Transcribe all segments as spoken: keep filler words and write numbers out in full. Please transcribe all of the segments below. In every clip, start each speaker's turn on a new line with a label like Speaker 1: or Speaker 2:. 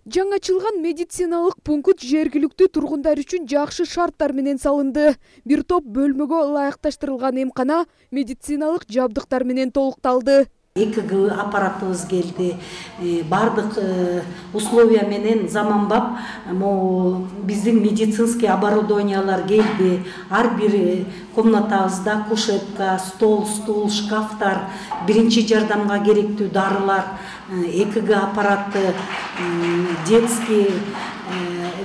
Speaker 1: Жаңачылган медициналык пункт жергиликтүү тургундар үчүн жакшы шарттар менен салынды. Бир топ бөлмөгө ылайыкташтырылган эмкана медициналык жабдыктар менен толукталды.
Speaker 2: Э К Г аппаратыбыз келди. Бардык условия менен заманбап биздин медицинский оборудованиялар келди. Ар бир комнатабызда кушетка, стол, стул, шкафтар, биринчи жардамга керектүү дарылар, Э К Г аппараты, детский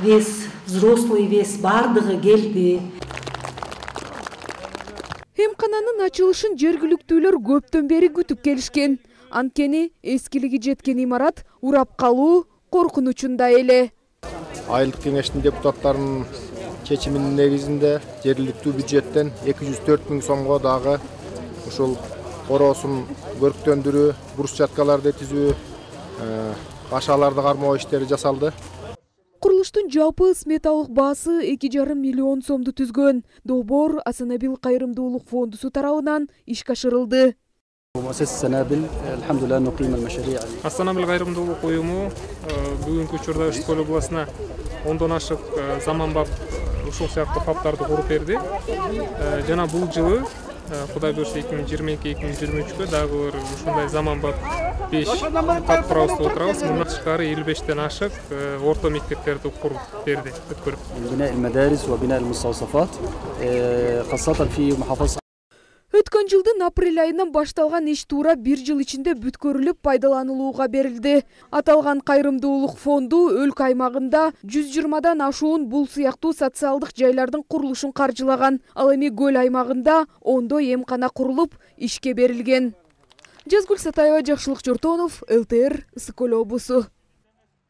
Speaker 2: вес, взрослый вес бардыгы келди.
Speaker 1: Эмкананын ачылышын жергиликтүүлөр көптөн бери күтүп келишкен. Анткени эскилиги жеткен имарат урап калуу коркунучунда эле.
Speaker 3: Айылдык кеңештин депутаттарынын чечиминин негизинде жергиликтүү бюджеттен эки жүз төрт миң сомго дагы ушул короосун көрктөндүрүү, брусчаткаларды түзүү, кашаларды кармоо иштери жасалды.
Speaker 1: Курулуштун жалпы сметалык баасы эки жарым миллион сомду түзгөн. Долбоор Асанабил кайрымдуулук фондусу тарабынан ишке ашырылды.
Speaker 4: Асанабил кайрымдуулук уюму бүгүнкү учурда Үч Көл областына ондон ашык заманбап ушул сыяктуу хабтарды куруп берди. Жана бул жылы Кудай буйрса эки миң жыйырма эки — эки миң жыйырма үчкө дагы бир ушундай заманбап беш кат курабызды отурабыз. Мындан тышкары элүү бештен ашык орто мектептерди куруп берди, өткөрүп.
Speaker 1: Өткөн жылдын апрель айынан башталган иш туура бир жыл ичинде бүткөрүлүп пайдаланылууга берилди. Аталган кайрымдуулук фонду өлкө аймагында жүз жыйырмадан ашуун бул сыяктуу социалдык жайлардын курулушун каржылаган. Ал эми көл аймагында ондой эмкана курулуп, ишке берилген. Жазгүл Сатаева, Жакшылык Жортонов, Л Т Р, Ысык Көл облусу.